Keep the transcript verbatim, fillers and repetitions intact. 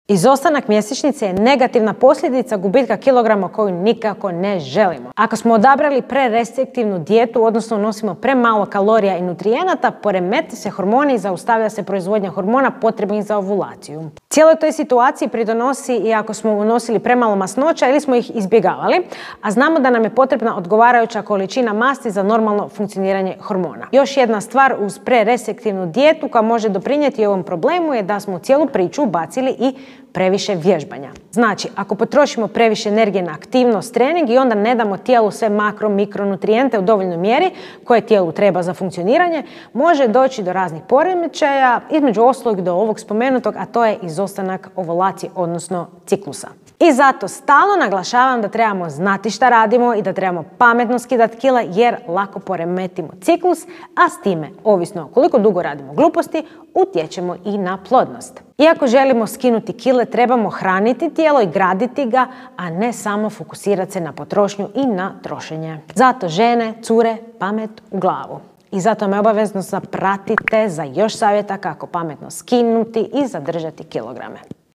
Izostanak mjesečnice je negativna posljedica gubitka kilograma koju nikako ne želimo. Ako smo odabrali prerestriktivnu dijetu, odnosno nosimo premalo kalorija i nutrijenata, poremete se hormoni i zaustavlja se proizvodnja hormona potrebnih za ovulaciju. Cijeloj toj situaciji pridonosi i ako smo unosili premalo masnoća ili smo ih izbjegavali, a znamo da nam je potrebna odgovarajuća količina masti za normalno funkcioniranje hormona. Još jedna stvar uz prerestriktivnu dijetu koja može doprinijeti ovom problemu je da smo u cijelu priču bacili i previše vježbanja. Znači, ako potrošimo previše energije na aktivnost, trening i onda ne damo tijelu sve makro, mikronutrijente u dovoljnoj mjeri koje tijelu treba za funkcioniranje, može doći do raznih poremećaja, između ostalog do ovog spomenutog, a to je izostanak ovulacije, odnosno ciklusa. I zato stalno naglašavam da trebamo znati šta radimo i da trebamo pametno skidati kila jer lako poremetimo ciklus, a s time, ovisno koliko dugo radimo gluposti, utječemo i na plodnost. Iako želimo skinuti kile, trebamo hraniti tijelo i graditi ga, a ne samo fokusirati se na potrošnju i na trošenje. Zato žene, cure, pamet u glavu. I zato me obavezno zapratite za još savjeta kako pametno skinuti i zadržati kilograme.